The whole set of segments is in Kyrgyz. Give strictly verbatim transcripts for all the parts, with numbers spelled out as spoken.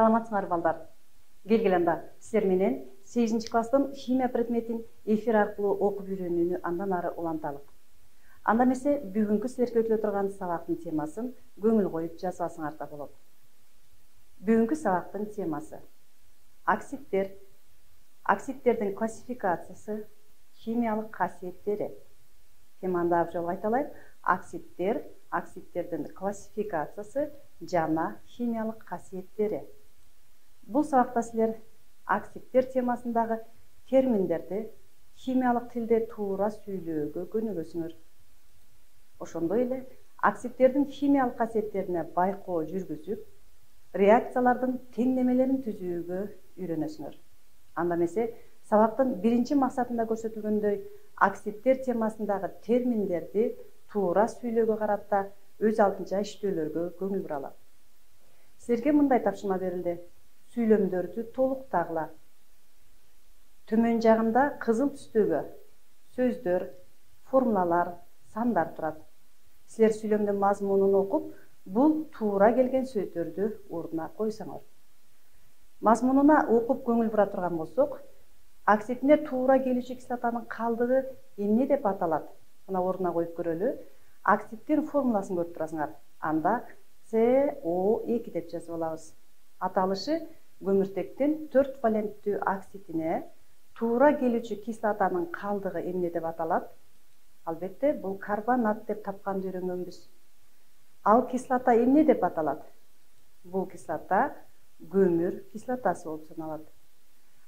Саламатсыңар балдар. Келгиле анда силер менен сегизинчи класстын химия предметин эфир аркылуу окуп үйрөнүүнү андан ары уланталык. Анда эмесе бүгүнкү силерге өтүлө турган сабактын темасын көңүл коюп жазып алсаңар да болот. Бүгүнкү сабактын темасы оксиддер, оксиддердин классификациясы, химиялык касиеттери. Теманы дагы жолу айталайын. Оксиддер, оксиддердин классификациясы жана химиялык касиеттери. Бул сабакта силер оксиддер темасындагы терминдерди химиялык тилде туура сүйлөөгө көнүгөсүңөр. Ошондой эле оксиддердин химиялык касиеттерине байкоо жүргүзүп, реакциялардын теңдемелерин түзүүгө үйрөнөсүңөр. Анда эмесе сабактын биринчи максатында көрсөтүлгөндөй оксиддер темасындагы терминдерди туура сүйлөөгө карата өз алдынча иштөөлөргө көңүл буралы. Силерге мындай тапшырма берилди. Сүйлөмдөрдү толуктагыла. Төмөн жагында кызыл түстөгө сөздөр, формулалар, сандар турат. Силер сүйлөмдүн мазмунун окуп, бул туура келген сөздөрдү ордуна койсоңор. Мазмунуна окуп көңүл бура турган болсок, оксидине туура келүүчү кислотанын калдыгы эмне деп аталат? Мына ордуна коюп көрөлү. Оксиддин формуласын көрүп турасыңар. Анда С О эки деп жазып алабыз. Аталышы көмүртектин төрт валенттүү оксидине туура келүүчү кислотанын калдыгы эмне деп аталат? Албетте, бул карбонат деп тапканды үйрөнгөнбүз. Ал кислота эмне деп аталат? Бул кислота көмүр кислотасы болуп саналат.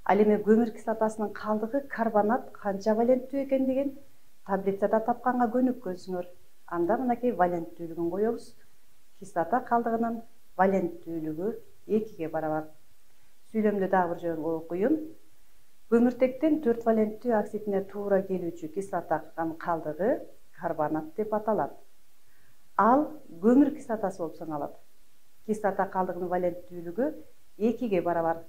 Ал эми көмүр кислотасынын калдыгы карбонат канча валенттүү экендигин таблицада тапканга көнүккөнсүңөр. Анда мынакей валенттүүлүгүн коебуз. Кислота калдыгынын валенттүүлүгү экиге барабар. Сүйлөмдү дагы бир жолу окуйун. Көмүртектин төрт валенттүү оксидине туура келүүчү кислотанын калдыгы карбонат деп аталат. Ал көмүр кислотасы болуп саналат. Кислота калдыгынын валенттүүлүгү экиге барабар.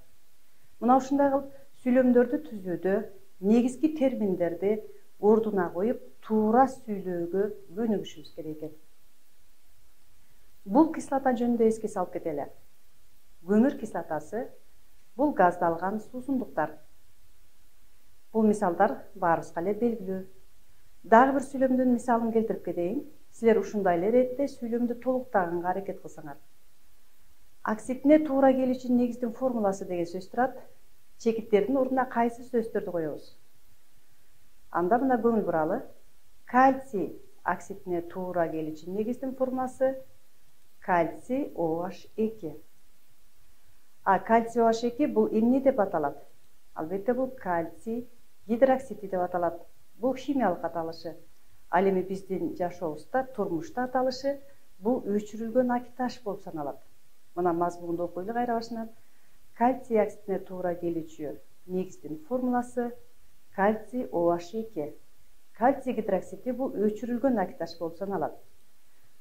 Мына ушундай кылып сүйлөмдөрдү түзүүдө негизги терминдерди ордуна коюп, туура сүйлөөгө көнүгүшүбүз керек экен. Бул кислота жөнүндө эске салып кетели. Көмүр кислотасы бул газдалган суусундуктар. Бул мисалдар баарыбызга эле белгилүү. Дагы бир сүйлөмдүн мисалын келтирип кетейин. Силер ушундай эле иретте сүйлөмдү толуктаганга аракет кылсаңар. Оксидине туура келүүчү негиздин формуласы деген сөз турат. Чекиттердин ордуна кайсы сөздөрдү коебуз? Анда мына көңүл буралы. Кальций оксидине туура келүүчү негиздин формуласы кальций О H эки. А кальций О H эки бул эмне деп аталат? Албетте, бул кальций гидроксиди деп аталат. Бул химиялык аталышы. Ал эми биздин жашообузда, турмушта аталышы бул өчүрүлгөн акиташ болуп саналат. Мына мазмунду окуйлу кайра башынан. Кальций оксидине туура келүүчү негиздин формуласы кальций О H эки. Кальций гидроксиди бул өчүрүлгөн акиташ болуп саналат.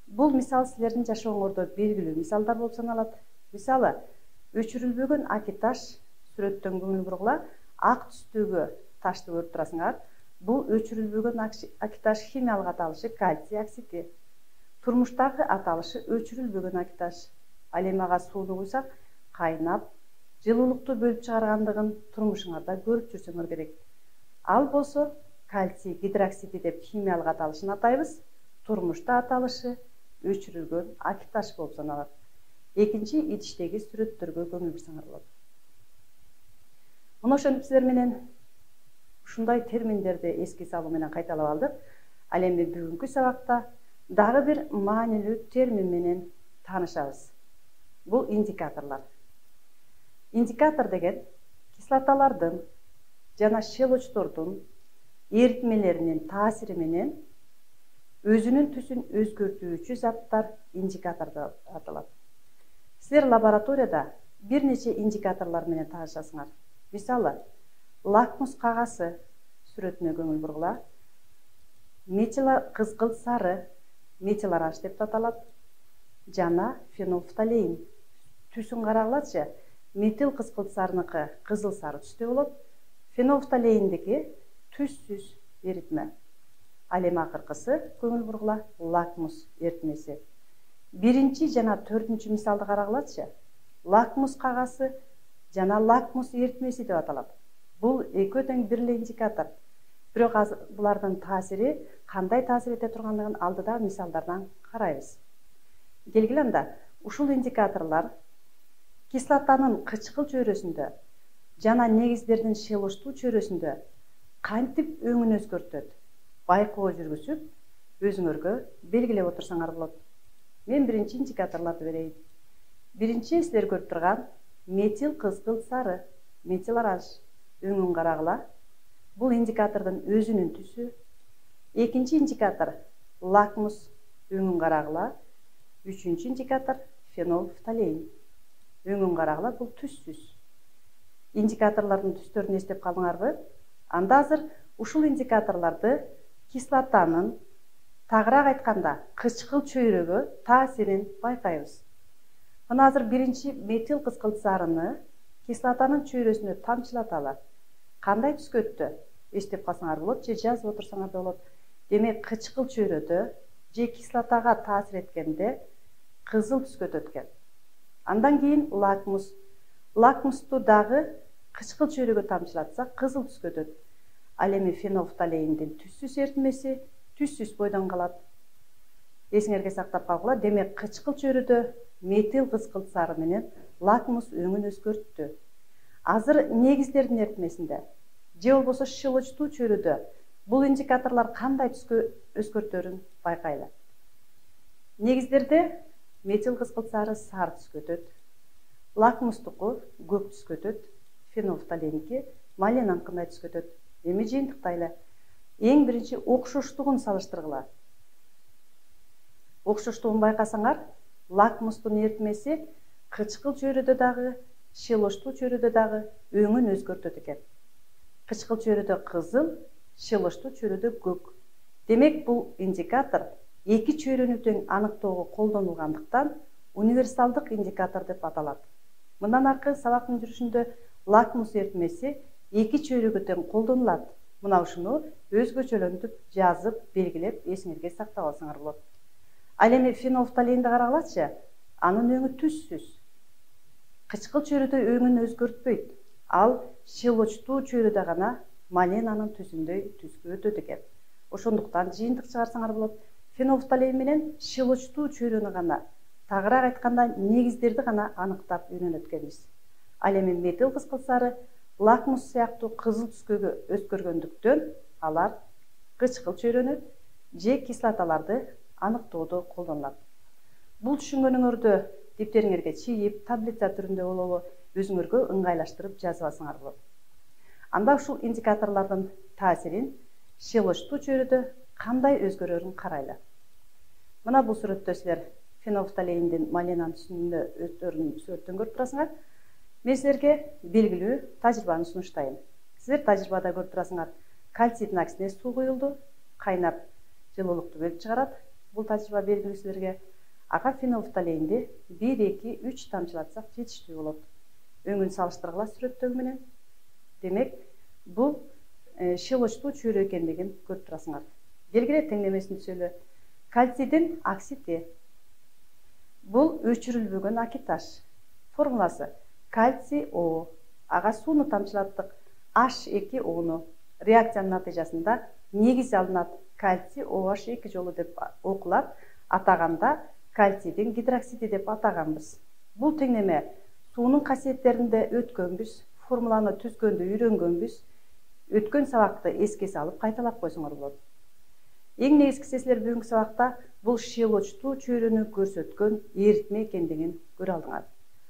Бул мисал силердин жашооңордо белгилүү мисалдар болуп саналат. Мисалы, өчүрүлбөгөн акиташ сүрөттөн көңүл бургула, ак түстөгү ташты көрүп турасыңар. Бул өчүрүлбөгөн акиташ химиялык аталышы кальций оксиди. Турмуштагы аталышы өчүрүлбөгөн акиташ. Ал эми ага сууну куйсак, кайнап, жылуулукту бөлүп чыгаргандыгын турмушуңарда көрүп жүрсөңөр керек. Ал болсо кальций гидроксиди деп химиялык аталышын атайбыз. Турмушта аталышы өчүрүлгөн акиташ болуп саналат. Экинчи идиштеги сүрөттөргө көңүл бурсаңар болот. Мына ошентип силер менен ушундай терминдерди эске салуу менен кайталап алдык. Ал эми бүгүнкү сабакта дагы бир маанилүү термин менен таанышабыз. Бул индикаторлор. Индикатор деген кислоталардын жана щелочтордун эритмелеринин таасири менен өзүнүн түсүн өзгөртүүчү заттар индикатор деп аталат. Силер лабораторияда бир нече индикаторлор менен таанышасыңар. Мисалы, лакмус кагазы сүрөтүнө көңүл бургула. Метил кызгыл сары, метил оранж деп аталат. Жана фенолфталеин. Түсүн карагылачы. Метил кызгыл сарыныкы кызыл сары түстө болот. Фенолфталеиндики түссүз эритме. Ал эми акыркысы көңүл бургула лакмус эритмеси. Биринчи жана төртүнчү мисалды карагылачы. лакмус кагазы жана лакмус эритмеси деп аталат. Бул экөө тең бир эле индикатор. Бирок азыр булардын таасири кандай таасир эте тургандыгын алдыда мисалдардан карайбыз. Келгиле анда, ушул индикаторлор кислотанын кычкыл чөйрөсүндө жана негиздердин шелоштуу чөйрөсүндө кантип өңүн өзгөртөт, байкоо жүргүзүп, өзүңөргө белгилеп отурсаңар болот. Мен биринчи индикаторлорду берейин. Биринчи силер көрүп турган метил кызгыл сары, метил оранж, өңүн карагыла. Бул индикатордун өзүнүн түсү. Экинчи индикатор лакмус, өңүн карагыла. Үчүнчү индикатор фенолфталеин, өңүн карагыла. Бул түссүз. Индикаторлордун түстөрүн эстеп калдыңарбы? Анда азыр ушул индикаторлорду кислотанын, тагыраак айтканда, кычкыл чөйрөгө таасирин байкайбыз. Мына азыр биринчи метил кызгыл сарыны кислотанын чөйрөсүнө тамчылаталы. Кандай түскө өттү? Эстеп калсаңар болот, же жазып отурсаңар да болот. Демек, кычкыл чөйрөдө же кислотага таасир эткенде кызыл түскө өткөн. Андан кийин лакмус. Лакмусту дагы кычкыл чөйрөгө тамчылатсак, кызыл түскө өтөт. Ал эми фенолфталеиндин түссүз эритмеси түссүз бойдон калат. Эсиңерге сактап калгыла. Демек, кычкыл чөйрөдө метил кызгыл сары менен лакмус өңүн өзгөрттү. Азыр негиздердин эритмесинде же болбосо шелочтуу чөйрөдө бул индикаторлор кандай түскө өзгөртөрүн байкайлы. Негиздерде метил кызгыл сары сары түскө өтөт, лакмустуку көк түскө өтөт, фенолфталеинки маленанкындай түскө өтөт. Эми жыйынтыктайлы. Эң биринчи окшоштугун салыштыргыла. Окшоштугун байкасаңар, лакмустун эритмеси кычкыл чөйрөдө дагы, шелоштуу чөйрөдө дагы өңүн өзгөртөт экен. Кычкыл чөйрөдө кызыл, шелоштуу чөйрөдө көк. Демек, бул индикатор эки чөйрөнү тең аныктоого колдонулгандыктан универсалдык индикатор деп аталат. Мындан аркы сабактын жүрүшүндө лакмус эритмеси эки чөйрөгө тең колдонулат. Мына ушуну өзгөчөлөнтүп, жазып, белгилеп, эсиңерге сактап алсаңар болот. Ал эми фенолфталеинди карагылачы, анын өңү түссүз. Кычкыл чөйрөдө өңүн өзгөртпөйт. Ал шелочтуу чөйрөдө гана маленанын түсүндөй түскө өтөт экен. Ошондуктан жыйынтык чыгарсаңар болот. Фенолфталеин менен шелочтуу чөйрөнү гана, тагыраак айтканда, негиздерди гана аныктап үйрөнөт экенбиз. Ал эми метил кызгыл сары лакмус сыяктуу кызыл түскөгө өзгөргөндүктөн алар кычкыл чөйрөнү же кислоталарды аныктоодо колдонулат. Бул түшүнгөнүңөрдү дептериңерге чийип, таблица түрүндө болобу, өзүңөргө ыңгайлаштырып жазып алсаңар болот. Анда ушул индикаторлордун таасирин шелочтуу чөйрөдө кандай өзгөрөрүн карайлы. Мына бул сүрөттө силер фенолфталеиндин маленан түсүнүндө өздөрүнүн сүрөттөн көрүп турасыңар. Мен силерге белгилүү тажрыйбаны сунуштайм. Силер тажрыйбада көрүп турасыңар, кальцийдин аксине суу куюлду, кайнап жылуулукту бөлүп чыгарат. Бул тажрыйба белгилүү силерге. Ага фенолфталеинди бир, эки, үч тамчылатсак жетиштүү болот. Өңүн салыштыргыла сүрөттөгү менен. Демек, бул шелочтуу чөйрө экендигин көрүп турасыңар. Келгиле теңдемесин түзөлү. Кальцийдин оксиди. Бул өчүрүлбөгөн акиташ. Формуласы кальций О. Ага сууну тамчылаттык. H эки Ону. Реакциянын натыйжасында негиз алынат. Кальций О H эки жолу деп окулат. Атаганда кальцийдин гидроксиди деп атаганбыз. Бул теңдеме суунун касиеттеринде өткөнбүз, формуланы түзгөндө үйрөнгөнбүз. Өткөн сабакты эске салып кайталап койсоңор болот. Эң негизгиси силер бүгүнкү сабакта бул шелочтуу чөйрөнү көрсөткөн эритме экендигин көрө алдыңар.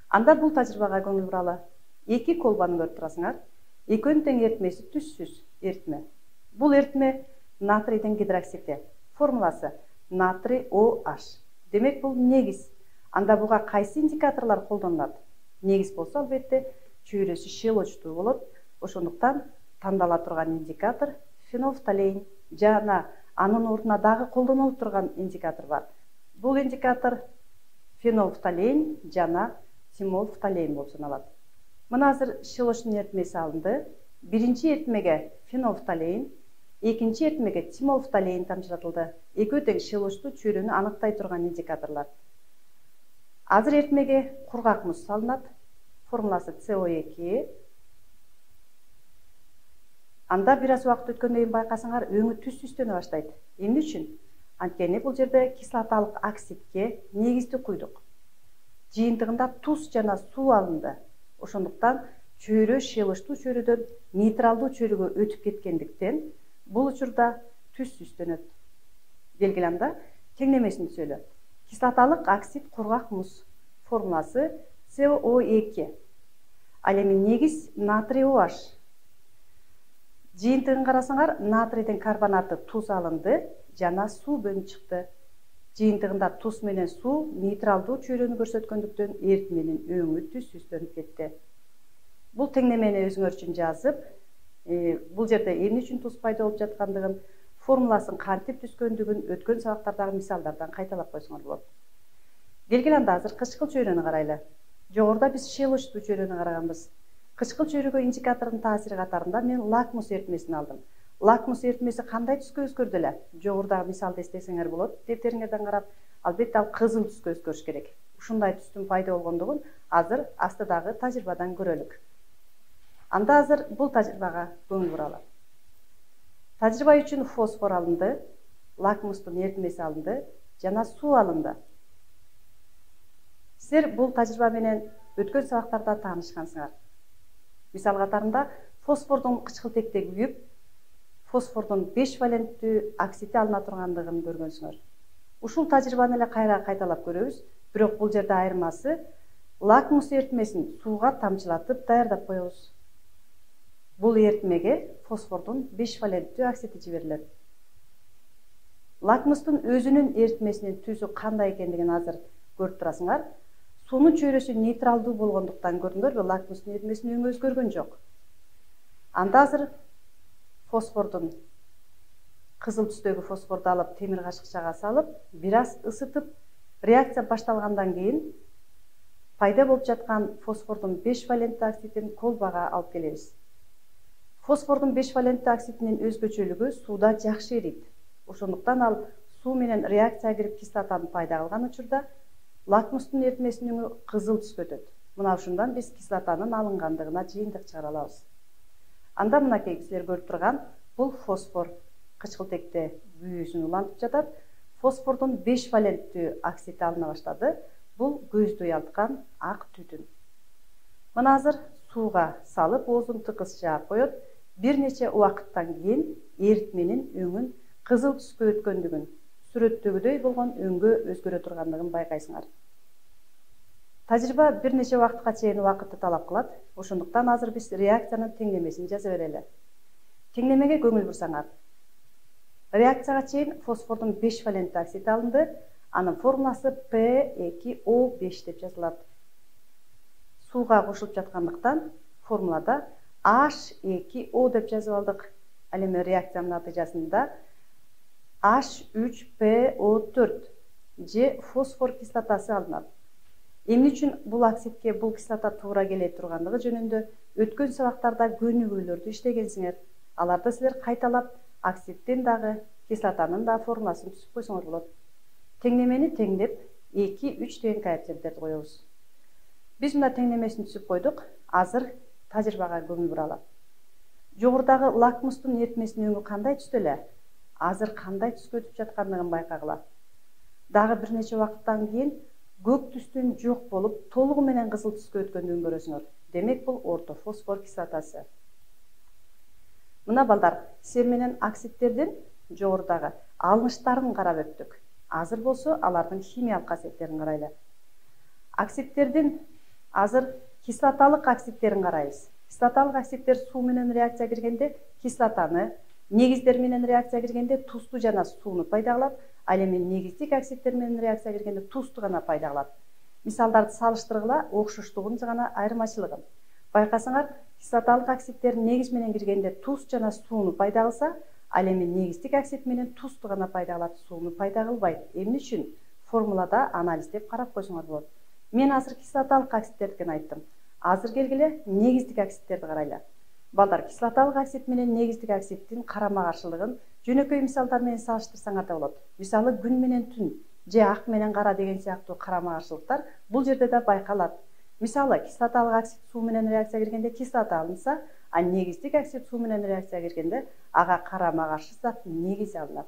Анда бул тажрыйбага көңүл буралы. Эки колбаны көрүп турасыңар. Экөөнүн тең эритмеси түссүз эритме. Бул эритме натрийдин гидроксиди. Формуласы натрий О H. Демек, бул негиз. Анда буга кайсы индикаторлор колдонулат? Негиз болсо, албетте, чөйрөсү шелочтуу болот. Ошондуктан тандала турган индикатор фенолфталеин. Жана анын ордуна дагы колдонулуп турган индикатор бар. Бул индикатор фенолфталеин жана тимолфталеин болуп саналат. Мына азыр шелочтун эритмеси алынды. Биринчи эритмеге фенолфталеин, экинчи эритмеге тимолфталеин тамчылатылды. Экөө тең шелочтуу чөйрөнү аныктай турган индикаторлор. Азыр эритмеге кургак муз салынат. Формуласы С О эки. Анда бир аз убакыт өткөндөн кийин байкасаңар, өңү түс түстөнө баштайт. Эмне үчүн? Анткени бул жерде кислоталык оксидке негизди куйдук. Жыйынтыгында туз жана суу алынды. Ошондуктан чөйрө шелыштуу чөйрөдөн нейтралдуу чөйрөгө өтүп кеткендиктен бул учурда түс түстөнөт. Белгиле теңнемесин түзөлөт. Кислоталык оксид кургак муз. Формуласы С О эки. Ал эми негиз натрий OH. Жыйынтыгын карасаңар, натрийдин карбонаты туз алынды жана суу бөлүнүп чыкты. Жыйынтыгында туз менен суу нейтралдуу чөйрөнү көрсөткөндүктөн эритменин өңү түс түстөнүп кетти. Бул теңнемени өзүңөр үчүн жазып, бул жерде эмне үчүн туз пайда болуп жаткандыгын, формуласын кантип түзгөндүгүн өткөн сабактардагы мисалдардан кайталап койсоңор болот. Келгиле анда азыр кычкыл чөйрөнү карайлы. Жогоруда биз шелыштуу чөйрөнү караганбыз. Кычкыл чөйрөгө индикатордун таасири катарында мен лакмус эритмесин алдым. Лакмус эритмеси кандай түскө өзгөрдү эле? Жогорудагы мисалды эстесеңер болот. Дефтериңерден карап, албетте ал кызыл түскө өзгөрүш керек. Ушундай түстүн пайда болгондугун азыр астыдагы тажрыйбадан көрөлүк. Анда азыр бул тажрыйбага көңүл буралы. Тажрыйба үчүн фосфор алынды, лакмустун эритмеси алынды жана суу алынды. Силер бул тажрыйба менен өткөн сабактарда таанышкансыңар. Мисал катарында фосфордун кычкылтекте күйүп, фосфордун беш валенттүү оксиди алына тургандыгын көргөнсүңөр. Ушул тажрыйбаны эле кайра кайталап көрөбүз, бирок бул жерде айырмасы лакмус эритмесин сууга тамчылатып даярдап коебуз. Бул эритмеге фосфордун беш валенттүү оксиди жиберилет. Лакмустун өзүнүн эритмесинин түзү кандай экендигин азыр көрүп турасыңар. Суунун чөйрөсү нейтралдуу болгондуктан көрдүңөрбү, лакмустун эритмесинин өңү өзгөргөн жок. Анда азыр фосфордун кызыл түстөгү фосфорду алып темир кашыкчага салып, бир аз ысытып, реакция башталгандан кийин пайда болуп жаткан фосфордун беш валенттүү оксидин колбага алып келебиз. Фосфордун беш валенттүү оксидинин өзгөчөлүгү сууда жакшы эрийт. Ошондуктан ал суу менен реакцияга кирип кислотаны пайда кылган учурда лакмустун эритмесинин өңү кызыл түскө өтөт. Мына ушундан биз кислотанын алынгандыгына жыйынтык чыгара алабыз. Анда мынакей силер көрүп турган бул фосфор кычкылтекте күйүүсүн улантып жатат. Фосфордун беш валенттүү оксиди алына баштады. Бул көздү уялткан ак түтүн. Мына азыр сууга салып, оозун тыкыз жаап коет. Бир нече убакыттан кийин эритменин өңүн кызыл түскө өткөндүгүн, сүрөттөгүдөй болгон өңгө өзгөрө тургандыгын байкайсыңар. Тажрыйба бир нече убакытка чейин убакытты талап кылат. Ошондуктан азыр биз реакциянын теңнемесин жаза берели. Теңнемеге көңүл бурсаңар. Реакцияга чейин фосфордун беш валенттүү оксиди алынды. Анын формуласы П эки О беш деп жазылат. Сууга кошулуп жаткандыктан формулада H эки O деп жазып алдык. Ал эми реакциянын натыйжасында H үч P O төрт же фосфор кислотасы алынат. Эмне үчүн бул оксидке бул кислота туура келе тургандыгы жөнүндө өткөн сабактарда көнүгүүлөрдү иштегенсиңер. Аларды силер кайталап, оксиддин дагы, кислотанын да формуласын түзүп койсоңор болот. Теңнемени теңдеп, эки үч деген коэффициенттерди коебуз. Биз мына теңнемесин түзүп койдук. Азыр тажрыйбага көңүл буралы. Жогорудагы лакмустун эритмесинин өңү кандай түстө эле? Азыр кандай түскө өтүп жаткандыгын байкагыла. Дагы бир нече убакыттан кийин көк түстүн жок болуп, толугу менен кызыл түскө өткөндүгүн көрөсүңөр. Демек бул орто фосфор кислотасы. Мына балдар, силер менен оксидтердин жогорудагы алыныштарын карап өттүк. Азыр болсо алардын химиялык касиеттерин карайлы. Оксидтердин азыр кислоталык оксидтерин карайбыз. Кислоталык оксидтер суу менен реакция киргенде кислотаны, негиздер менен реакция киргенде тузду жана сууну пайда кылат. Ал эми негиздик оксидтер менен реакция киргенде тузду гана пайда кылат. Мисалдарды салыштыргыла, окшоштугун жана айырмачылыгын. Байкасаңар, кислоталык оксидтер негиз менен киргенде туз жана сууну пайда кылса, ал эми негиздик оксид менен тузду гана пайда кылат, сууну пайда кылбайт. Эмне үчүн? Формулада анализдеп карап койсоңор болот. Мен азыр кислоталык оксидтердикин айттым. Азыр келгиле негиздик оксидтерди карайлы. Балдар, кислоталык оксид менен негиздик оксиддин карама каршылыгын жөнөкөй мисалдар менен салыштырсаңар да болот. Мисалы күн менен түн, же ак менен кара деген сыяктуу карама каршылыктар бул жерде да байкалат. Мисалы, кислоталык оксид суу менен реакцияга киргенде кислота алынса, а негиздик оксид суу менен реакцияга киргенде ага карама каршы зат негиз алынат.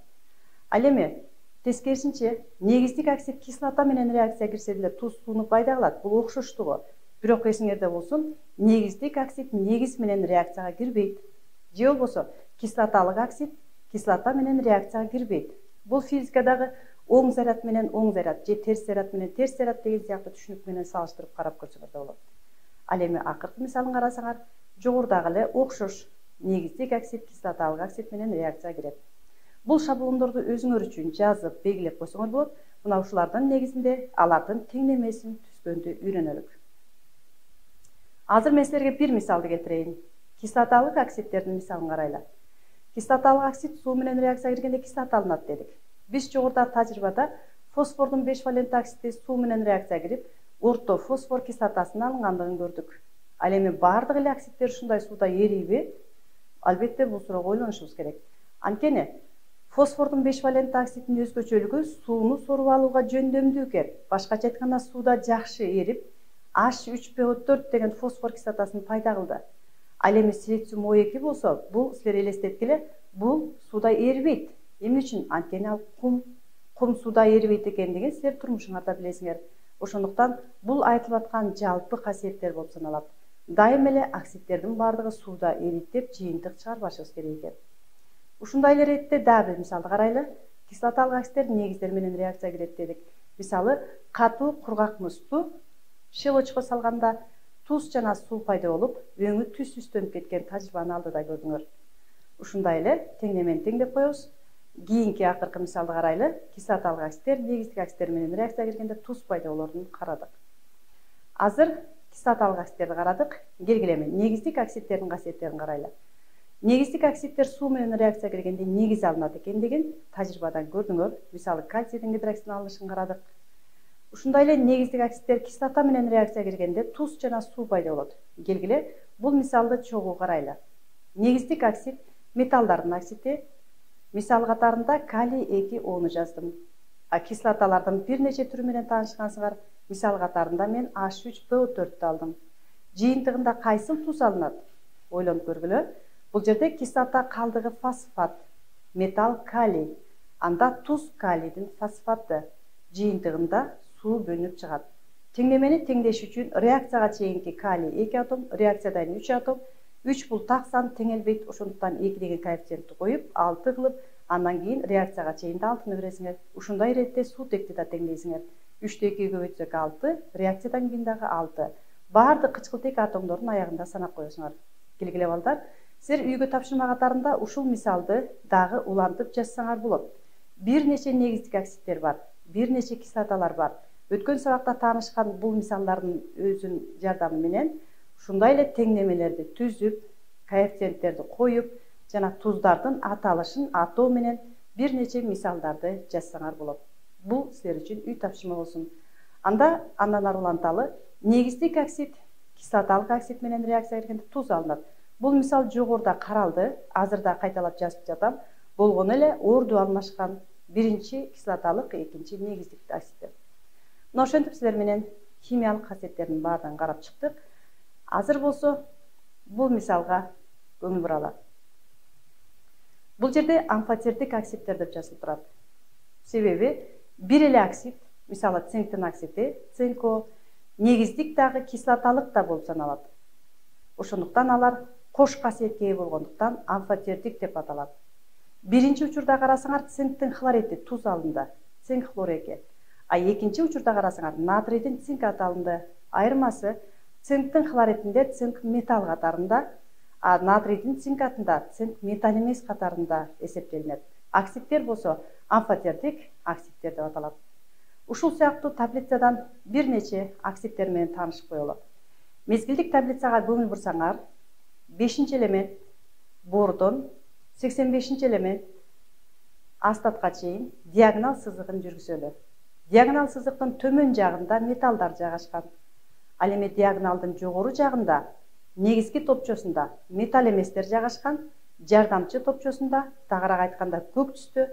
Ал эми тескерисинче, негиздик оксид кислота менен реакцияга кирсе деле туз сууну пайда кылат. Бул окшоштугу. Бирок эсиңерде болсун, негиздик оксид негиз менен реакцияга кирбейт. Же болбосо кислоталык оксид кислота менен реакцияга кирбейт. Бул физикадагы оң заряд менен оң заряд же терс заряд менен терс заряд деген сыяктуу түшүнүк менен салыштырып карап көрсөңөр да болот. Ал эми акыркы мисалын карасаңар, жогорудагы эле окшош негиздик оксид кислоталык оксид менен реакцияга кирет. Бул шаблондорду өзүңөр үчүн жазып, белгилеп койсоңор болот. Мына ушулардын негизинде алардын теңдемесин түзгөндү үйрөнөлүк. Азыр мен силерге бир мисалды келтирейин. Кислоталык оксидтердин мисалын карайлы. Кислоталык оксид суу менен реакцияга киргенде кислота алынат дедик. Биз жогорудагы тажрыйбада фосфордун беш валентті оксиди суу менен реакцияга кирип, орто фосфор кислотасынын алынгандыгын көрдүк. Ал эми баардык эле оксидтер ушундай сууда эрийби? Албетте бул суроого ойлонушубуз керек. Анткени фосфордун беш валентті оксидинин өзгөчөлүгү сууну соруп алууга жөндөмдүү экен. Башкача айтканда сууда жакшы эрип, H үч P O төрт деген фосфор кислотасын пайда кылды. Ал эми силициум О эки болсо, бул силер элестеткиле, бул сууда эрибейт. Эмне үчүн? Анткени ал кум, кум сууда эрибейт экендигин силер турмушуңарда билесиңер. Ошондуктан бул айтылып аткан жалпы касиеттер болуп саналат. Дайым эле оксидтердин баардыгы сууда эрийт деп жыйынтык чыгарбашыбыз керек экен. Ушундай эле иретте дагы бир мисалды карайлы. Кислоталык оксидтер негиздер менен реакцияга кирет дедик. Мисалы, катуу кургак музду шелочко салганда туз жана суу пайда болуп, өңү түз түстөнүп кеткен тажрыйбаны алдыда көрдүңөр. Ушундай эле теңдемени теңдеп коебуз. Кийинки акыркы мисалды карайлы. Кислоталык оксидтер негиздик оксидтер менен реакцияга киргенде туз пайда болоорун карадык. Азыр кислоталык оксидтерди карадык. Келгиле эми негиздик оксидтердин касиеттерин карайлы. Негиздик оксидтер суу менен реакцияга киргенде негиз алынат экендигин тажрыйбадан көрдүңөр. Мисалы, кальцийдин гидроксидин алынышын карадык. Ушундай эле негиздик оксидтер кислота менен реакцияга киргенде туз жана суу пайда болот. Келгиле бул мисалды чогуу карайлы. Негиздик оксид металлдардын оксиди. Мисал катарында калий эки Ону жаздым. А кислоталардын бир нече түрү менен таанышкансыңар. Мисал катарында мен H үч P O төрттү алдым. Жыйынтыгында кайсыл туз алынат? Ойлонуп көргүлө. Бул жерде кислота калдыгы фосфат, металл калий. Анда туз калийдин фосфаты. Жыйынтыгында суу бөлүнүп чыгат. Теңдемени теңдеш үчүн реакцияга чейинки калий эки атом, реакциядан үч атом. үч бул так сан теңелбейт, ошондуктан эки деген коэффициентти коюп, алты кылып, андан кийин реакцияга чейинде алтыны бересиңер. Ушундай иретте суутекти да теңдейсиңер. үчтү экиге көбөйтсөк алты, реакциядан кийин дагы алты. Баардык кычкылтек атомдордун аягында санап коесуңар. Келгиле балдар, силер үйгө тапшырма катарында ушул мисалды дагы улантып жазсаңар болот. Бир нече негиздик оксидтер бар, бир нече кислоталар бар. Өткөн сабакта таанышкан бул мисалдардын өзүнүн жардамы менен ушундай эле теңдемелерди түзүп, коэффициенттерди коюп, жана туздардын аталышын атоо менен бир нече мисалдарды жазсаңар болот. Бул силер үчүн үй тапшырма болсун. Анда андан ары уланталы, негиздик оксид кислоталык оксид менен реакцияга киргенде туз алынат. Бул мисал жогоруда каралды, азыр да кайталап жазып жатам. Болгону эле орду алмашкан. Биринчи кислоталык, экинчи негиздик оксидтер. Мына ошентип силер менен химиялык касиеттердин баардыгын карап чыктык. Азыр болсо бул мисалга көңүл буралы. Бул жерде амфотердик оксидтер деп жазылып турат. Себеби бир эле оксид, мисалы цинктин оксиди, цинко, негиздик дагы кислоталык да болуп саналат. Ошондуктан алар кош касиетке ээ болгондуктан амфотердик деп аталат. Биринчи учурда карасаңар цинктин хлориди туз алынды, цинк хлор эки. А экинчи учурда карасаңар натрийдин цинк аты алынды. Айырмасы цинктин хлоридинде цинк металл катарында, а натрийдин цинк атында цинк металл эмес катарында эсептелинет. Оксидтер болсо амфотердик оксидтер деп аталат. Ушул сыяктуу таблицадан бир нече оксидтер менен таанышып коелу. Мезгилдик таблицага көңүл бурсаңар, бешинчи элемент бордон, сексен бешинчи элемент астатка чейин диагонал сызыгын жүргүзөлү. Диагонал сызыктын төмөн жагында металлдар жайгашкан. Ал эми диагоналдын жогору жагында негизги топчосунда металл эместер жайгашкан, жардамчы топчосунда, тагыраак айтканда көк түстө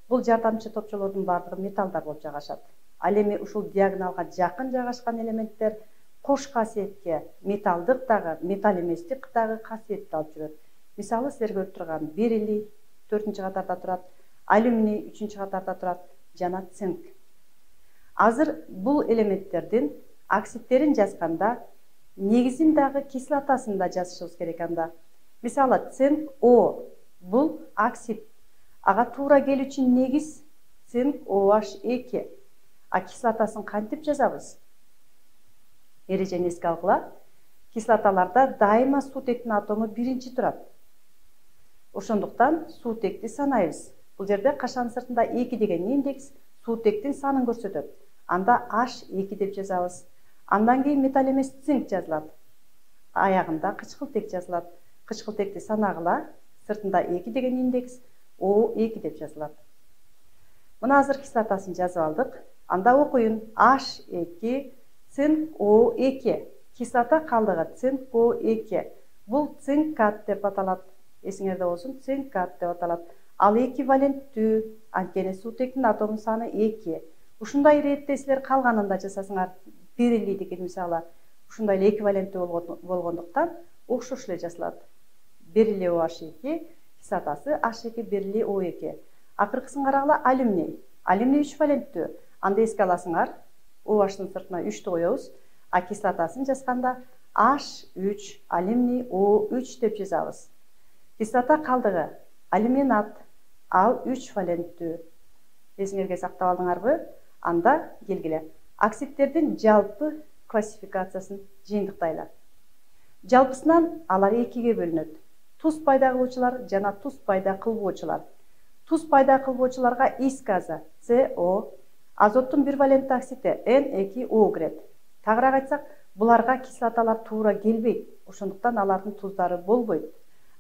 Бул жардамчы топчолордун бардыгы металлдар болуп жайгашат. Ал эми ушул диагоналга жакын жайгашкан элементтер кош касиетке, металлдык дагы, металл эместик дагы касиетти алып жүрөт. Мисалы, силер көрүп турган бериллий төртүнчү катарда турат, алюминий үчүнчү катарда турат жана цинк. Азыр бул элементтердин оксидтерин жазганда негизин дагы кислотасын да жазышыбыз керек анда. Мисалы, цинк О бул оксид. Ага туура келүүчү негиз цинк О H эки. А кислотасын кантип жазабыз? Эрежени эске алгыла. Кислоталарда дайыма суутектин атому биринчи турат. Ошондуктан суутекти санайбыз. Бул жерде кашанын сыртында эки деген индекс суутектин санын көрсөтөт. Анда H эки деп жазабыз. Андан кийин металл эмес цинк жазылат. Аягында кычкылтек жазылат. Кычкылтекти санагыла, сыртында эки деген индекс О эки деп жазылат. Мына азыр кислотасын жазып алдык. Анда окуйун. H эки цинк О эки. Кислота калдыгы цинк О эки. Бул цинкат деп аталат. Эсиңерде болсун, цинкат деп аталат. Ал эквиваленттүү, анткени суутектин атомунун саны эки. Ушундай иретте силер калганын да жасасыңар. Бериллийдики мисалы ушундай эле эквиваленттүү болгондуктан окшош эле жазылат. Бериллий О H эки, кислотасы H эки бериллий О эки. Акыркысын карагыла, алюминий. Алюминий үч валенттүү. Анда эске аласыңар, О H-тын сыртына үчтү коебуз, а кислотасын жазганда H үч, алюминий О үч деп жазабыз. Кислота калдыгы алюминат, ал үч валенттүү. Эсиңерге сактап алдыңарбы? Анда келгиле. Оксидтердин жалпы классификациясын жыйынтыктайлы. Жалпысынан алар экиге бөлүнөт. Туз пайда кылуучулар жана туз пайда кылбоочулар. Туз пайда кылбоочуларга ис газы С О, азоттун бир валентті оксиди Н эки О кирет. Тагыраак айтсак, буларга кислоталар туура келбейт, ошондуктан алардын туздары болбойт.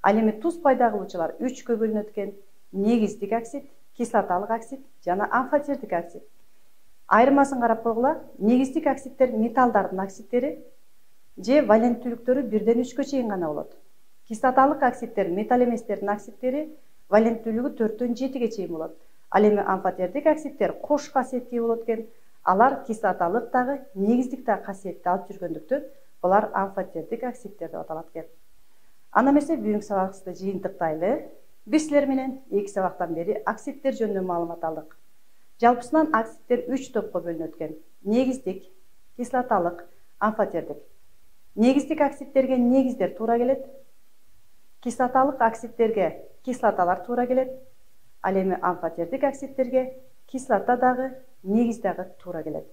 Ал эми туз пайда кылуучулар үчкө бөлүнөт экен: негиздик оксид, кислоталык оксид жана амфотердик оксид. Айырмасын карап койгула. Негиздик оксидтер металлдардын оксидтери же валенттүүлүктөрү бирден үчкө чейин гана болот. Кислоталык оксидтер металл эместердин оксидтери валенттүүлүгү төрттөн жетиге чейин болот. Ал эми амфотердик оксидтер кош касиетке болот экен. Алар кислоталык дагы, негиздик дагы касиетти алып жүргөндүктөн булар амфотердик оксидтер деп аталат экен. Анда эмесе бүгүнкү сабагыбызды жыйынтыктайлы. Биз силер менен эки сабактан бери оксидтер жөнүндө маалымат алдык. Жалпысынан оксидтер үч топко бөлүнөт экен: негиздик, кислоталык, амфотердик. Негиздик оксидтерге негиздер туура келет. Кислоталык оксидтерге кислоталар туура келет. Ал эми амфотердик оксидтерге кислота дагы, негиз дагы туура келет.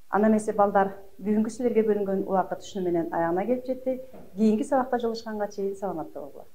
Анда эмесе балдар, бүгүнкү силерге бөлүнгөн убакыт ушуну менен аягына келип жетти. Кийинки сабакта жолугушканга чейин саламатта болгула.